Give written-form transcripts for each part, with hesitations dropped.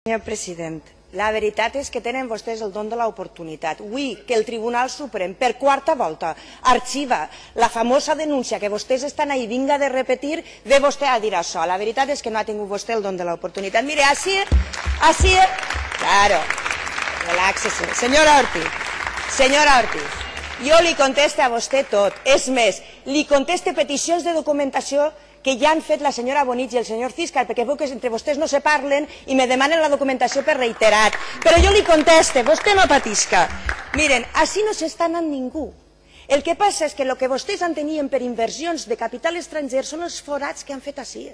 Senyor president, la veritat és que tenen vostès el don de l'oportunitat. Avui que el Tribunal Suprem per quarta volta arxiva la famosa denúncia que vostès estan ahí vinga de repetir, ve vostè a dir això. La veritat és que no ha tingut vostè el don de l'oportunitat. Mire, així, claro, reláxese. Senyora Ortiz, jo li conteste a vostè tot. És més, li conteste peticions de documentació que ja han fet la senyora Bonich i el senyor Císcar, perquè veu que entre vostès no se parlen i me demanen la documentació per reiterat. Però jo li conteste, vostè no patisca. Miren, així no s'està anant ningú. El que passa és que el que vostès entenien per inversions de capital estranger són els forats que han fet així.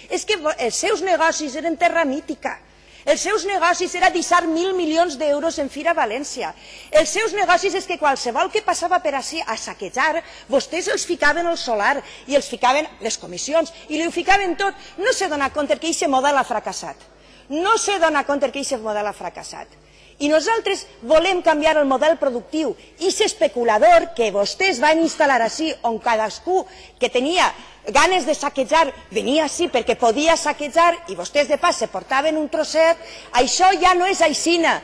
És que els seus negocis eren terra mítica. Els seus negocis era deixar 1.000 milions d'euros en Fira València. Els seus negocis és que qualsevol que passava per així a saquejar, vostès els ficaven al solar i els ficaven les comissions i li ho ficaven tot. No se dona compte que aquest model ha fracassat. No se dona compte que aquest model ha fracassat. I nosaltres volem canviar el model productiu. I aquest especulador que vostès van instal·lar així, on cadascú que tenia ganes de saquejar venia així perquè podia saquejar i vostès de pas se portaven un trosset, això ja no és aixina.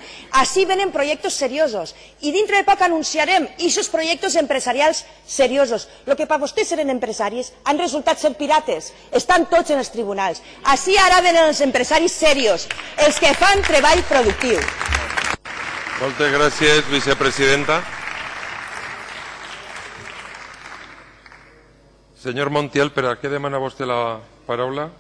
Així venen projectes seriosos i dintre de poc anunciarem aquests projectes empresarials seriosos. El que per vostès eren empresaris han resultat ser pirates, estan tots en els tribunals. Així ara venen els empresaris serios, els que fan treball productiu. Moltes gràcies, vicepresidenta. Senyor Montiel, per a què demana vostè la paraula?